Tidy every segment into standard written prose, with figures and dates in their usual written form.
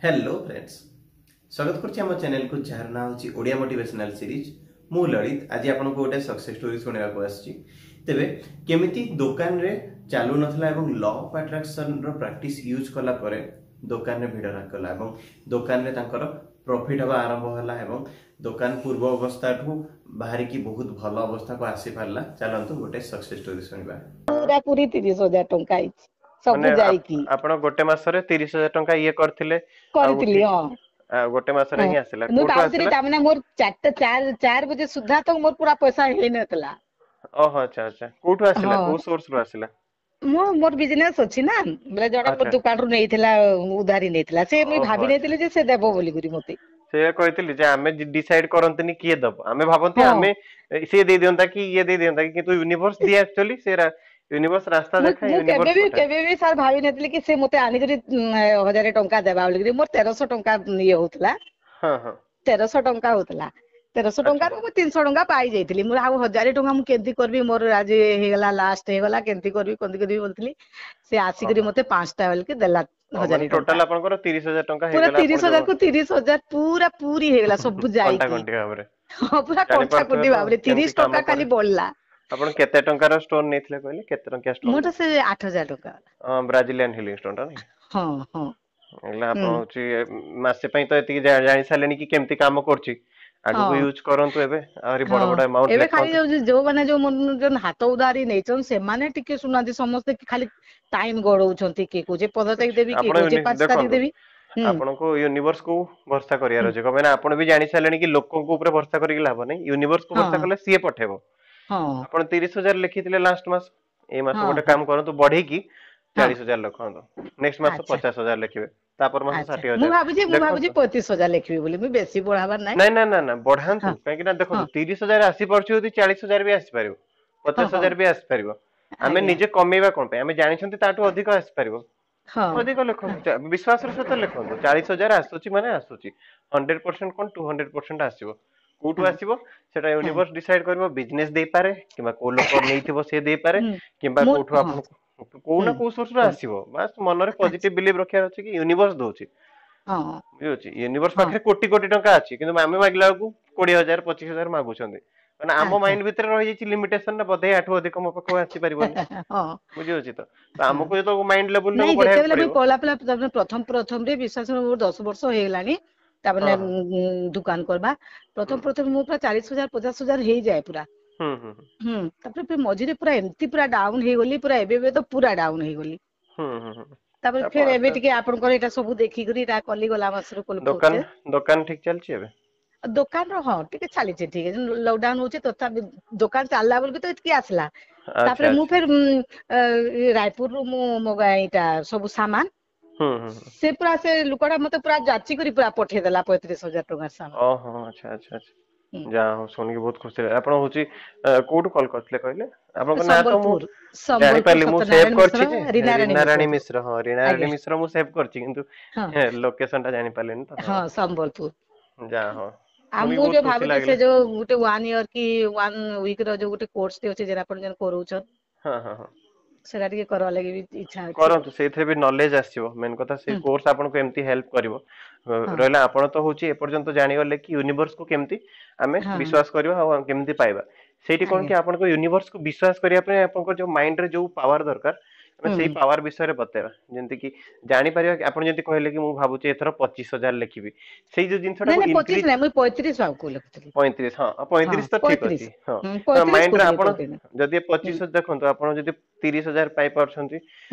Hello friends, ସ୍ୱାଗତ କରୁଛି ଆମ ଚ୍ୟାନେଲକୁ ଯାହାର ନାଁ ହେଉଛି ଓଡ଼ିଆ ମୋଟିଭେସନାଲ ସିରିଜ୍। ମୁଁ ଲଳିତ ଆଜି ଆପଣଙ୍କୁ ଗୋଟେ ସକ୍ସେସ୍ ଷ୍ଟୋରି ଶୁଣାଇବାକୁ ଆସିଛି। ତେବେ କେମିତି ଦୋକାନରେ ଚାଲୁନଥିଲା ଏବଂ ଲ ଅଫ୍ ଆଟ୍ରାକ୍ସନର ପ୍ରାକ୍ଟିସ୍ ୟୁଜ୍ କଲା ପରେ ଦୋକାନରେ ଭିଡ଼ କଲା ଏବଂ ଦୋକାନରେ ତାଙ୍କର ପ୍ରଫିଟ୍ ହେବା ଆରମ୍ଭ ହେଲା ଏବଂ ଦୋକାନ ପୂର୍ବ ଅବସ୍ଥାଠୁ ବାହାରିକି ବହୁତ ଭଲ ଅବସ୍ଥାକୁ ଆସିପାରିଲା। ଚାଲନ୍ତୁ ଗୋଟେ ସକ୍ସେସ୍ ଷ୍ଟୋରି ଶୁଣିବା। ପୁରା ପୁରି 30,000 ଟଙ୍କା ହେଇଛି ସବୁ ମାନେ ଯାଇକି। ଆପଣ ଗୋଟେ ମାସରେ 30,000 ଟଙ୍କା ଇଏ କରିଥିଲେ ଆଉ କରିଥିଲି, ହଁ। ଆଉ ଗୋଟେ ମାସରେ ହିଁ ଆସିଲା। ମୁଁ କୋଉଠୁ ଭାବୁଥିଲି ଆସିଲା? ତାମାନେ ମୋର ଚାରିଟା ଚାରି ବଜେ ସୁଦ୍ଧା ତ ମୋର ପୁରା ପଇସା ହେଇନଥିଲା। ଓହୋ, ଆଚ୍ଛା ଆଚ୍ଛା। କୋଉଠୁ ଆସିଲା? ହଁ। କୋଉ ସୋର୍ସ ରୁ ଆସିଲା? ମୁଁ ମୋର ବିଜନେସ ଅଛି ନା, ବୋଲେ ଜଣେ ମୋ ଦୋକାନରୁ ନେଇଥିଲା, ଉଧାରି ନେଇଥିଲା ସେ। ମୁଇଁ ଭାବି ନେଇଥିଲି ଯେ ସେ ଦେବ ବୋଲିକରି ମତେ। ସେଇଆ କହିଥିଲି ଯେ ଆମେ ଡିସାଇଡ କରନ୍ତିନି କିଏ ଦବ। ଆମେ ଭାବନ୍ତି ଆମେ ସିଏ ଦେଇ ଦିଅନ୍ତା କି ଇଏ ଦେଇ ଦିଅନ୍ତା କି, କିନ୍ତୁ ୟୁନିଭର୍ସ ଦିଏ। ଆକ୍ଚୁଆଲି ସେ ୟୁନିଭର୍ସ ରାସ୍ତା ଦେଖାଏ, ମୁଁ କେବେ ୟୁନିଭର୍ସ ବି ପଠାଏ। କେବେ ବି ସାର୍ ଭାବି ନଥିଲି କି ସେ ମତେ ଆଣିକରି 1,000 ଟଙ୍କା ଦେବା ବୋଲିକରି। ମୋର 1,300 ଟଙ୍କା ଇଏ ହଉଥିଲା। ହଁ ହଁ 1,300 ଟଙ୍କା ହଉଥିଲା। 1,300 ଟଙ୍କାରୁ ମୁଁ 300 ଟଙ୍କା ପାଇଯାଇଥିଲି। ମୁଁ ଆଉ 1,000 ଟଙ୍କା ମୁଁ କେମିତି କରିବି, ମୋର ଆଜି ହେଇଗଲା, ଲାଷ୍ଟ ହେଇଗଲା, କେମିତି କରିବି କେମିତି କରିବି ବୋଲୁଥିଲି। ସେ ଆସିକରି ମତେ 5ଟା ବେଳକୁ ଦେଲା ମାନେ 1,000 ଟଙ୍କା। ଟୋଟାଲ ଆପଣଙ୍କର 30,000 ଟଙ୍କା ପୁରା ହେଇଗଲା। 30,000 କୁ 30,000 ପୁରା ପୁରି ହେଇଗଲା ସବୁ କଣ୍ଟା ଯାଇକି। କଣ୍ଟି ଭାବରେ। ହଁ, ପୁରା କଣ୍ଟା ଜାଣିପାରୁଥିବେ କୁଣ୍ଟି ତ ଭାବରେ। କେମିତି 30 ଟଙ୍କା କାମ ଖାଲି କରେ। ବଢିଲା। ଆପଣ କେତେ ଟଙ୍କାର ଷ୍ଟୋନ ନେଇଥିଲେ କହିଲେ? କେତେ ଟଙ୍କିଆ ଷ୍ଟୋନ? ମୋର ସେ 8,000 ଟଙ୍କା। ବ୍ରାଜିଲିଆନ ହିଲିଂ ଷ୍ଟୋନ ଟା ନାଇଁ? ହଁ ହଁ। ହେଲା, ଆପଣ ହଉଛି ମାସେ ପାଇଁ ତ ଏତିକି ଜାଣି ସାରିଲେଣି କି କେମିତି କାମ କରୁଛି। ଆଗକୁ ୟୁଜ କରନ୍ତୁ, ଏବେ ଆହୁରି ବଡ ବଡ ଆମାଉଣ୍ଟ ଏବେ ଖାଲି ଲେଖନ୍ତୁ। ଯୋଉ ଯୋଉମାନେ ଯୋଉ ହାତ ଉଧାରି ନେଇଛନ୍ତି ସେମାନେ ଟିକେ ଶୁଣନ୍ତି। ସମସ୍ତେ ଖାଲି ଟାଇମ ଗଡଉଛନ୍ତି। କିଏ କହୁଛି 15 ତାରିଖ ଦେବି, କିଏ ଆପଣ କହୁଛି 5 ତାରିଖ ଦେଖନ୍ତୁ, ଦେବି। ଆପଣଙ୍କୁ ୟୁନିଭର୍ସ କୁ ଭରସା କରିବାର ଅଛି। କଣ ପାଇଁ ନା ଆପଣ ବି ଜାଣି ସାରିଲେଣି କି ଲୋକଙ୍କ ଉପରେ ଭରସା କରିକି ଲାଭ ନାହିଁ, ୟୁନିଭର୍ସ କୁ ଭରସା କଲେ ସିଏ ପଠେଇବ। ଆପଣ 30,000 ଲେଖିଥିଲେ ଲାଷ୍ଟ ମାସ, ଏଇ ମାସ ଗୋଟେ କାମ କରନ୍ତୁ, ବଢେଇକି 40,000 ଲେଖନ୍ତୁ। ନେକ୍ସଟ ମାସ 50,000 ଲେଖିବେ, ତାପର ମାସ ଷାଠିଏ ମୁଁ ହଜାର ଭାବୁଛି ମୁଁ ଭାବୁଛି ଦେଖନ୍ତୁ। 35,000 ଲେଖିବି ବୋଲି, ମୁଁ ବେଶୀ ବଢାବାର ନାହିଁ। ନାଇଁ ନା ନା ନା, ବଢାନ୍ତୁ। କାହିଁକି ନା ଦେଖନ୍ତୁ, 30,000 ଆସିପାରୁଛି ଯଦି 40,000 ବି ଆସିପାରିବ, 50,000 ବି ଆସିପାରିବ। ଆମେ ନିଜେ କମେଇବା କଣ ପାଇଁ? ଆମେ ଜାଣିଛନ୍ତି ତାଠୁ ଅଧିକ ଆସିପାରିବ। ଅଧିକ ଲେଖନ୍ତୁ, ବିଶ୍ୱାସର ସହିତ ଲେଖନ୍ତୁ। 40,000 ଆସୁଛି ମାନେ ଆସୁଛି, 100% କଣ 200% ଆସିବ। କୋଉଠୁ ଆସିବ ସେଟା ୟୁନିଭର୍ସ ଡିସାଇଡ କରିବ। ବିଜନେସ ଦେଇପାରେ କିମ୍ବା କୋଉ ଲୋକ ନେଇଥିବ ସେ ଦେଇପାରେ କିମ୍ବା ମୁଁ କୋଉଠୁ ଆପଣଙ୍କୁ କୋଉ ନା କୋଉ ସୋର୍ସ ରୁ ଆସିବ। ବାସ୍ ମନରେ ପଜିଟିଭ ବିଲିଭ ରଖିବାର ଅଛି କି ୟୁନିଭର୍ସ ଦଉଛି। ବୁଝିହଉଛି? ୟୁନିଭର୍ସ ପାଖରେ କୋଟି କୋଟି ଟଙ୍କା ଅଛି, କିନ୍ତୁ ଆମେ ମାଗିଲା ବେଳକୁ 20,000 25,000 ମାଗୁଛନ୍ତି। ମାନେ ଆମ ମାଇଣ୍ଡ ଭିତରେ ରହିଯାଇଛି ଲିମିଟେସନ ନା ବୋଧେ ୟାଠୁ ଅଧିକ ମୋ ପାଖକୁ ଆସିପାରିବନି। ବୁଝିହଉଛି ତ? ତ ଆମକୁ ଯେତେବେଳେ ମାଇଣ୍ଡ ଲେବୁଲ ନାଇଁ, ଟାକୁ ବଢେଇବାକୁ ଯେତେବେଳେ ମୁଇଁ ପଡିବ। ପହଲା ପହଲା ପ୍ରଥମ ପ୍ରଥମରେ, ବିଶ୍ୱାସ କର, ମୋର 10 ବର୍ଷ ହେଇଗଲାଣି ତାମାନେ ଦୋକାନ କରିବା। ପ୍ରଥମ ପ୍ରଥମେ ମୁଁ ପୁରା 40,000 50,000 ହେଇଯାଏ ପୁରା। ହୁଁ ହୁଁ ତାପରେ ଫେର ମଝିରେ ପୁରା ଏମିତି ପୁରା ଡାଉନ ହେଇଗଲି ପୁରା। ଏବେ ଏବେ ତ ପୁରା ଡାଉନ ହେଇଗଲି। ହୁଁ ହୁଁ ହୁଁ ତାପରେ ଆପଣ ଫେର ଏବେ ଆସ୍ତେ ଟିକେ ଆପଣଙ୍କର ଏଇଟା ସବୁ ଦେଖିକରି ଏଇଟା କଲି, ଗଲା ମାସରୁ କଲି। ଦୋକାନ ଦୋକାନ ଠିକ ଚାଲିଛି ଏବେ? ଦୋକାନର ହଁ, ଟିକେ ଚାଲିଛି ଠିକ। ଲକଡାଉନ ହଉଛି, ତଥାପି ଦୋକାନ ଚାଲିଲା ବେଳକୁ ତ ଏତିକି ଆସିଲା। ତାପରେ ମୁଁ ଫେର ରାୟପୁରରୁ ମୁଁ ମଗାଏ ଏଇଟା ସବୁ ସାମାନ। ହୁଁ ହୁଁ ହୁଁ। ସେ ପୁରା ସେ ଲୋକଟା ମତେ ପୁରା ଯାଚି କରି ପୁରା ପଠେଇଦେଲା 35,000 ଟଙ୍କାର ସାମାନ। ଓହୋ, ଆଚ୍ଛା ଆଚ୍ଛା ଆଚ୍ଛା। ଯାହା ହଉ, ଶୁଣିକି ବହୁତ ଖୁସି ଲାଗିଲା। ଆପଣ ହଉଛି କୋଉଠୁ କଲ୍ କରିଥିଲେ କହିଲେ? ଆପଣଙ୍କ ନାଁ ତ ମୁଁ ସମ୍ବଲପୁର, ସମ୍ବଲପୁର। ଜାଣିପାରିଲି, ମୁଁ ସେଭ୍ ସତ୍ୟନାରାୟଣ କରିଛି ମିଶ୍ର, ଯେ ରୀନାରାଣୀ ରୀନା ମିଶ୍ର। ରାଣୀ ମିଶ୍ର, ହଁ, ରୀନା ରାଣୀ ମିଶ୍ର। ମୁଁ ସେଭ୍ କରିଛି କିନ୍ତୁ ଲୋକେସନ ଟା ଜାଣିପାରିଲିନି ତ। ହଁ, ସମ୍ବଲପୁର। ଯାହା ହଉ, ଆଉ ଶୁଣିକି ମୁଁ ବହୁତ ଯୋଉ ଖୁସି ଭାବୁଛି ସେ ଲାଗିଲା। ଯୋଉ ଗୋଟେ ୱାନ୍ ଇୟର କି ୱାନ୍ ୱିକ ର ଯୋଉ ଗୋଟେ କୋର୍ସ ଟେ ଅଛି, ଯେଟା ଆପଣ ଯେନ୍ କରଉଛନ୍, ହଁ ହଁ ହଁ ସେଟା ଟିକେ କରବା ଲାଗି ବି ଇଚ୍ଛା ଅଛି। କରନ୍ତୁ, ସେଇଥିରେ ବି ନଲେଜ ଆସିବ। ମେନ୍ କଥା ସେଇ କୋର୍ସ ଆପଣଙ୍କୁ ଏମିତି ହେଲ୍ପ କରିବ। ରହିଲା, ଆପଣ ତ ହଉଛି ଏପର୍ଯ୍ୟନ୍ତ ଜାଣିଗଲେ କି ୟୁନିଭର୍ସ କୁ କେମିତି ଆମେ ବିଶ୍ୱାସ କରିବା ଆଉ କେମିତି ପାଇବା। ସେଇଠି କଣ କି ଆପଣଙ୍କ ୟୁନିଭର୍ସ କୁ ବିଶ୍ୱାସ କରିବା ପାଇଁ ଆପଣଙ୍କ ଯୋଉ ମାଇଣ୍ଡରେ ଯୋଉ ପାୱାର ଦରକାର, ଆମେ ସେଇ ପାୱାର ବିଷୟରେ ବତେଇବା। ଯେମିତି କି ଜାଣିପାରିବା କି ଆପଣ ଯେମିତି କହିଲେ କି ମୁଁ ଭାବୁଛି ଏଥର 25,000 ଲେଖିବି, ସେଇ ଯୋଉ ନାଇଁ ଜିନିଷଟାକୁ ନାଇଁ, 25 ଇନକ୍ରିଜ ନାଇଁ, ମୁଁ 35 ଆଉ ଲେଖୁଥିଲି। 35, ହଁ, 35 ତ ଠିକ 35 ଅଛି। ହଁ, ତ 35 ମାଇଣ୍ଡରେ କହୁଥିଲି, ଆପଣ 35। ଯଦି 25, ଦେଖନ୍ତୁ, ଆପଣ ଯଦି 30,000 ପାଇପାରୁଛନ୍ତି,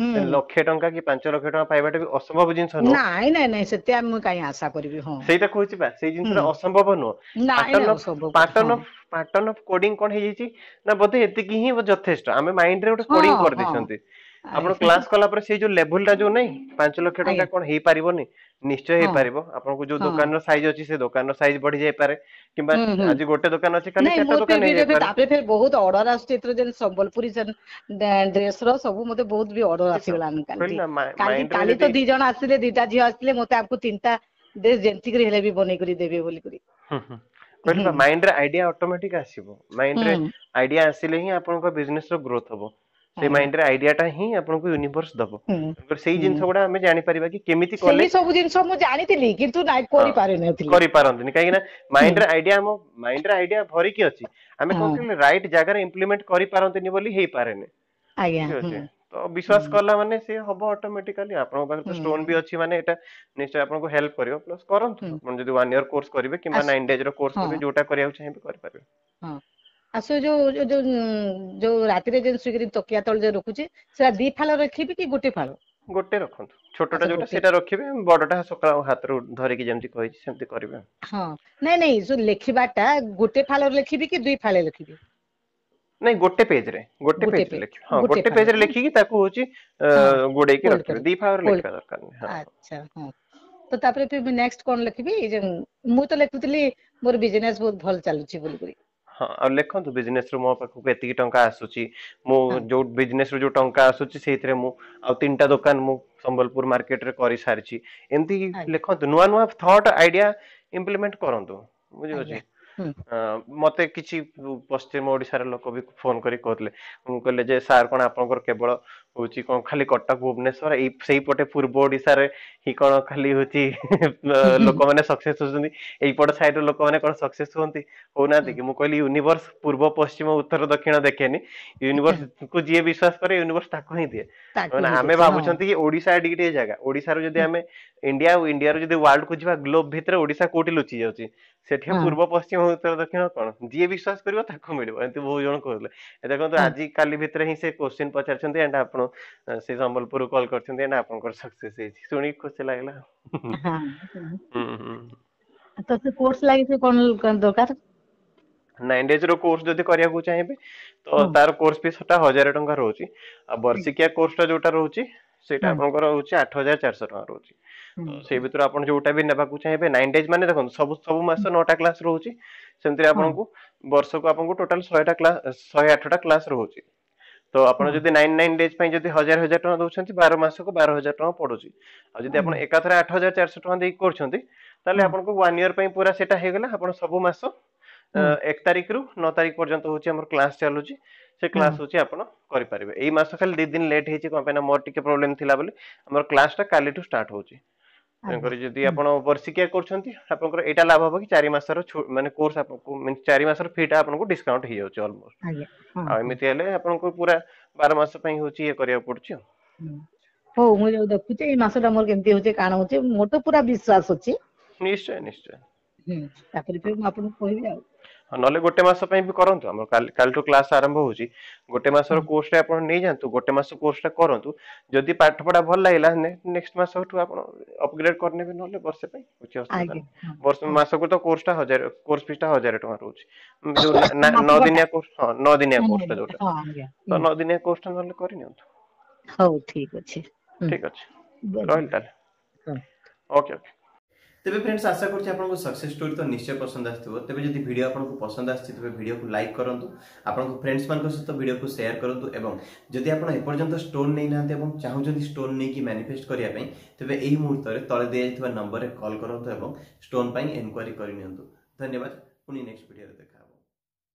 ଲକ୍ଷେ ଟଙ୍କା କି 5 ଲକ୍ଷ ଟଙ୍କା ପାଇବାଟା ବି ଅସମ୍ଭବ ଜିନିଷ ନୁହଁ। ନାଇଁ ନାଇଁ ନାଇଁ, ସେତେ ମୁଁ କାହିଁ ଆଶା କରିବି? ହଁ। ସେଇଟା କହୁଛି ବା, ସେଇ ଜିନିଷଟା ଅସମ୍ଭବ ନୁହଁ। ନାଇଁ ପାଟର୍ନ ନାଇଁ, ଅଫ ଅସମ୍ଭବ। Pattern of pattern of coding କଣ ହେଇଯାଇଛି ନା ବୋଧେ ଏତିକି ହିଁ ଯଥେଷ୍ଟ, ଆମେ ମାଇଣ୍ଡରେ ଗୋଟେ କୋଡିଂ କରିଦେଇଛନ୍ତି। ଆପଣ କ୍ଲାସ କଲା ପରେ ସେଇ ଯୋଉ ଲେଭୁଲ ଟା ଯୋଉ ନାଇଁ, 5 ଲକ୍ଷ ଟଙ୍କା କଣ ହେଇପାରିବନି? ନିଶ୍ଚୟ ହେଇପାରିବ। ଆପଣଙ୍କୁ ଯୋଉ ଦୋକାନର ସାଇଜ ଅଛି, ସେ ଦୋକାନର ସାଇଜ ବଢି ଯାଇପାରେ କିମ୍ବା ହୁଁ ହୁଁ ଆଜି ଗୋଟେ ଦୋକାନ ଅଛି, କାଲି ନାଇଁ, ଚାରିଟା ମୋର ଦୋକାନ ଫେର ବି ଏବେ ହେଇଯାଇପାରେ। ତାପରେ ଫେର ବହୁତ ଅର୍ଡର ଆସୁଛି ଏଥର, ଯେନ୍ ସମ୍ବଲପୁରୀ ଡ୍ରେସ ର ସବୁ ମତେ ବହୁତ ବି ଅର୍ଡର ସେଇ ତ ଆସିଗଲାଣି। କାଲି କହିଲି ନା, କାଲି ମାଇଣ୍ଡରେ କାଲି ତ ଯଦି ଦି ଜଣ ଆସିଲେ, ଦିଟା ଝିଅ ଆସିଲେ ମତେ, ଆମକୁ ତିନିଟା ଡ୍ରେସ ଯେମିତି କରି ହେଲେ ବି ବନେଇ କରି ଦେବେ ବୋଲିକରି। ହୁଁ ହୁଁ କହିଲି ବା, ମାଇଣ୍ଡରେ ଆଇଡିଆ ଅଟୋମେଟିକ ଆସିବ। ମାଇଣ୍ଡରେ ଆଇଡିଆ ଆସିଲେ ହିଁ ଆପଣଙ୍କ ବିଜନେସ ର ଗ୍ରୋଥ ହବ। ସେଇ ମାଇଣ୍ଡରେ ଆଇଡିଆଟା ହିଁ ଆପଣଙ୍କୁ ୟୁନିଭର୍ସ ଦବ। ସେଇ ଜିନିଷ ଗୁଡା ଆମେ ଜାଣିପାରିବା କି କେମିତି କଲେ। ସବୁ ଜିନିଷ ମୁଁ ଜାଣିଥିଲି କିନ୍ତୁ କରିପାରିନଥିଲି, କରିପାରନ୍ତିନି, କାହିଁକି ନା ମାଇଣ୍ଡରେ ଆଇଡିଆ, ଆମ ମାଇଣ୍ଡରେ ଆଇଡିଆ ଭରିକି ଅଛି, ଆମେ କଣ କହିଲେ ରାଇଟ ଜାଗାରେ ଇମ୍ପ୍ଲିମେଣ୍ଟ କରିପାରନ୍ତିନି ବୋଲି ହେଇପାରେନି। ଆଜ୍ଞା। ଠିକ ଅଛି, ତ ବିଶ୍ୱାସ କଲା ମାନେ ସେ ହବ ଅଟୋମେଟିକାଲି। ଆପଣଙ୍କ ପାଖରେ ତ ଷ୍ଟୋନ ବି ଅଛି, ମାନେ ଏଇଟା ନିଶ୍ଚୟ ଆପଣଙ୍କୁ ହେଲ୍ପ କରିବ। ପ୍ଲସ୍ କରନ୍ତୁ, ଆପଣ ଯଦି 1 ଇୟର କୋର୍ସ କରିବେ କିମ୍ବା 9 ଡେଜ ର କୋର୍ସ କରିବେ, ଯୋଉଟା କରିବାକୁ ଚାହିଁବେ କରିପାରିବେ। ହଁ, ଆଉ ସେ ଯୋଉ ଯୋଉ ଯୋଉ ରାତିରେ ଯୋଉ ଶୋଇକରି ତକିଆ ତଳେ ଯୋଉ ରଖୁଛି, ସେଟା 2 ଫାଳ ରଖିବି କି ଗୋଟେ ଫାଳ? ଗୋଟେ ରଖନ୍ତୁ, ଛୋଟଟା ଯୋଉଟା ସେଇଟା ରଖିବେ, ବଡଟା ସକାଳ ହାତରୁ ଧରିକି ଯେମିତି କହିଛି ସେମିତି କରିବେ। ହଁ, ନାଇଁ ନାଇଁ, ଯୋଉ ଲେଖିବାଟା ଗୋଟେ ଫାଳରେ ଲେଖିବି କି 2 ଫାଳେ ଲେଖିବି? ନାଇଁ, ଗୋଟେ ପେଜରେ, ଗୋଟେ ପେଜରେ ଲେଖିବେ। ହଁ, ଗୋଟେ ପେଜରେ ଲେଖିକି ତାକୁ ହଉଛି ଗୋଡେଇକି ରଖିବେ, 2 ଫାଳରେ ଲେଖିବା ଦରକାର ନାହିଁ। ଆଚ୍ଛା, ହଁ। ତ ତାପରେ ନେକ୍ସଟ କଣ ଲେଖିବି? ମୁଁ ତ ଲେଖୁଥିଲି ମୋର ବିଜନେସ ବହୁତ ଭଲ ଚାଲୁଛି ବୋଲିକରି। ହଁ, ଆଉ ଲେଖନ୍ତୁ ବିଜନେସ ରୁ ମୋ ପାଖକୁ ଏତିକି ଟଙ୍କା ଆସୁଛି, ମୁଁ ଯୋଉ ବିଜନେସ ରୁ ଯୋଉ ଟଙ୍କା ଆସୁଛି ସେଇଥିରେ ମୁଁ ଆଉ 3ଟା ଦୋକାନ ମୁଁ ସମ୍ବଲପୁର ମାର୍କେଟରେ କରିସାରିଛି, ଏମିତି ଲେଖନ୍ତୁ। ନୂଆ ନୂଆ ଥଟ୍ ଆଇଡିଆ ଇମ୍ପ୍ଲିମେଣ୍ଟ କରନ୍ତୁ, ବୁଝିପାରୁଛି? ମତେ କିଛି ପଶ୍ଚିମ ଓଡିଶାର ଲୋକ ବି ଫୋନ କରି କହୁଥିଲେ, ମୁଁ କହିଲେ ଯେ ସାର୍ କଣ ଆପଣଙ୍କର କେବଳ ହଉଛି କଣ ଖାଲି କଟକ ଭୁବନେଶ୍ୱର ଏଇ ସେଇପଟେ ପୂର୍ବ ଓଡିଶାରେ ହିଁ କଣ ଖାଲି ହଉଛି ଲୋକମାନେ ସକ୍ସେସ ହଉଛନ୍ତି, ଏଇପଟ ସାଇଡର ଲୋକମାନେ କଣ ସକ୍ସେସ ହୁଅନ୍ତି ହଉନାହାନ୍ତି କି? ମୁଁ କହିଲି ୟୁନିଭର୍ସ ପୂର୍ବ ପଶ୍ଚିମ ଉତ୍ତର ଦକ୍ଷିଣ ଦେଖେନି, ୟୁନିଭର୍ସ କୁ ଯିଏ ବିଶ୍ୱାସ କରେ ୟୁନିଭର୍ସ ତାକୁ ହିଁ ଦିଏ। ମାନେ ଆମେ ଭାବୁଛନ୍ତି କି ଓଡିଶା ଏଠିକି ଟିକେ ଜାଗା, ଓଡିଶାରୁ ଯଦି ଆମେ ଇଣ୍ଡିଆ ଆଉ ଇଣ୍ଡିଆରୁ ଯଦି ୱାର୍ଲଡ କୁ ଯିବା, ଗ୍ଲୋବ ଭିତରେ ଓଡିଶା କୋଉଠି ଲୁଚି ଯାଉଛି, ସେଠି ପୂର୍ବ ପଶ୍ଚିମ ଉତ୍ତର ଦକ୍ଷିଣ କଣ, ଯିଏ ବିଶ୍ୱାସ କରିବ ତାକୁ ମିଳିବ, ଏମିତି ବହୁତ ଜଣ କହୁଥିଲେ। ଦେଖନ୍ତୁ ଆଜି କାଲି ଭିତରେ ହିଁ ସେ କୋଶ୍ଚିନ୍ ପଚାରିଛନ୍ତି ଆଣ୍ଡ ଆପଣ ସେ ସମ୍ବଲପୁରରୁ କଲ୍ କରିଛନ୍ତି ଆଣ୍ଡ ଆପଣଙ୍କର ସକ୍ସେସ ହେଇଛି, ଶୁଣିକି ଖୁସି ଲାଗିଲା। ତ ସେ କୋର୍ସ ଲାଗି ସେ କଣ ଦରକାର? 9 ଡେଜ ର କୋର୍ସ ଯଦି କରିବାକୁ ଚାହିଁବେ ତ ତାର କୋର୍ସ ଫିସ୍ ଟା 1000 ଟଙ୍କା ରହୁଛି, ଆଉ ବର୍ଷିକିଆ କୋର୍ସ ଟା ଯୋଉଟା ରହୁଛି ସେଇଟା ଆପଣଙ୍କର ରହୁଛି 8400 ଟଙ୍କା ରହୁଛି। ସେଇ ଭିତରୁ ଆପଣ ଯୋଉଟା ବି ନେବାକୁ ଚାହିଁବେ, 9 ଡେଜ ମାନେ ଦେଖନ୍ତୁ ସବୁ ସବୁ ମାସ 9ଟା କ୍ଲାସ ରହୁଛି, ସେମିତିରେ ଆପଣଙ୍କୁ ବର୍ଷକୁ ଆପଣଙ୍କୁ ଟୋଟାଲ 100ଟା କ୍ଲାସ, 108ଟା କ୍ଲାସ ରହୁଛି। ତ ଆପଣ ଯଦି 9 ଡେଜ ପାଇଁ ଯଦି 1000 ଟଙ୍କା ଦଉଛନ୍ତି, 12 ମାସକୁ 12000 ଟଙ୍କା ପଡୁଛି। ଆଉ ଯଦି ଆପଣ ଏକାଥରେ 8400 ଟଙ୍କା ଦେଇକି କରୁଛନ୍ତି, ତାହେଲେ ଆପଣଙ୍କୁ 1 ଇୟର ପାଇଁ ପୁରା ସେଇଟା ହେଇଗଲା। ଆପଣ ସବୁ ମାସ 1 ତାରିଖରୁ 9 ତାରିଖ ପର୍ଯ୍ୟନ୍ତ ହଉଛି ଆମର କ୍ଲାସ ଚାଲୁଛି, ସେ କ୍ଲାସ ହଉଛି ଆପଣ କରିପାରିବେ। ଏଇ ମାସ ଖାଲି 2 ଦିନ ଲେଟ୍ ହେଇଛି, କଣ ପାଇଁ ନା ମୋର ଟିକେ ପ୍ରୋବ୍ଲେମ ଥିଲା ବୋଲି ଆମର କ୍ଲାସ ଟା କାଲିଠୁ ଷ୍ଟାର୍ଟ ହଉଛି। ତେଣୁକରି ଯଦି ଆପଣ ବର୍ଷିକିଆ କରୁଛନ୍ତି ଆପଣଙ୍କର ଏଇଟା ଲାଭ ହବ କି 4 ମାସର ମାନେ କୋର୍ସ ଆପଣଙ୍କୁ 4 ମାସର ଫି ଟା ଆପଣଙ୍କୁ ଡିସକାଉଣ୍ଟ ହେଇଯାଉଛି ଅଲମୋଷ୍ଟ। ଆଉ ଏମିତି ହେଲେ ଆପଣଙ୍କୁ ପୁରା 12 ମାସ ପାଇଁ ହଉଛି ଇଏ କରିବାକୁ ପଡୁଛି। ଆଉ ହଉ, ମୁଁ ଯୋଉ ଦେଖୁଛି ଏଇ ମାସଟା ମୋର କେମିତି ହଉଛି କାଣ ହଉଛି, ମୋର ତ ପୁରା ବିଶ୍ୱାସ ଅଛି। ନିଶ୍ଚୟ ନିଶ୍ଚୟ। ତାପରେ ମୁଁ ଆପଣଙ୍କୁ କହିବି। ଆଉ ନହେଲେ ଗୋଟେ ମାସ ପାଇଁ ବି କରନ୍ତୁ, ଆମର କାଲିଠୁ କ୍ଲାସ ଆରମ୍ଭ ହଉଛି, ଗୋଟେ ମାସର କୋର୍ସ ଟା ଆପଣ ନେଇଯାଆନ୍ତୁ, ଗୋଟେ ମାସ କୋର୍ସ ଟା କରନ୍ତୁ, ଯଦି ପାଠ ପଢା ଭଲ ଲାଗିଲା ନେକ୍ସଟ ମାସଠୁ ଆପଣ ଅପଗ୍ରେଡ କରିନେବେ, ନହେଲେ ବର୍ଷେ ପାଇଁ କିଛି ଅସୁବିଧା ନାହିଁ। ବର୍ଷ ମାସକୁ ତ କୋର୍ସ ଟା 1000, କୋର୍ସ ଫିସ୍ ଟା 1000 ଟଙ୍କା ରହୁଛି, ଯୋଉ 9 ଦିନିଆ କୋର୍ସ। ହଁ, 9 ଦିନିଆ କୋର୍ସ ଟା ଯୋଉଟା, ତ 9 ଦିନିଆ କୋର୍ସ ଟା ନହେଲେ କରିନିଅନ୍ତୁ। ହଉ, ଠିକ ଅଛି, ଠିକ ଅଛି, ରହିଲି ତାହେଲେ। Okay okay. ତେବେ ଫ୍ରେଣ୍ଡସ୍, ଆଶା କରୁଛି ଆପଣଙ୍କୁ ସକ୍ସେସ୍ ଷ୍ଟୋରି ତ ନିଶ୍ଚୟ ପସନ୍ଦ ଆସିଥିବ। ତେବେ ଯଦି ଭିଡ଼ିଓ ଆପଣଙ୍କୁ ପସନ୍ଦ ଆସିଛି ତେବେ ଭିଡ଼ିଓକୁ ଲାଇକ୍ କରନ୍ତୁ, ଆପଣଙ୍କ ଫ୍ରେଣ୍ଡସ୍ ମାନଙ୍କ ସହିତ ଭିଡ଼ିଓକୁ ସେୟାର କରନ୍ତୁ, ଏବଂ ଯଦି ଆପଣ ଏପର୍ଯ୍ୟନ୍ତ ଷ୍ଟୋନ୍ ନେଇନାହାନ୍ତି ଏବଂ ଚାହୁଁଛନ୍ତି ଷ୍ଟୋନ୍ ନେଇକି ମ୍ୟାନିଫେଷ୍ଟ କରିବା ପାଇଁ, ତେବେ ଏହି ମୁହୂର୍ତ୍ତରେ ତଳେ ଦିଆଯାଇଥିବା ନମ୍ବରରେ କଲ୍ କରନ୍ତୁ ଏବଂ ଷ୍ଟୋନ୍ ପାଇଁ ଏନକ୍ୱାରି କରିନିଅନ୍ତୁ। ଧନ୍ୟବାଦ, ପୁଣି ନେକ୍ସଟ ଭିଡ଼ିଓରେ ଦେଖା।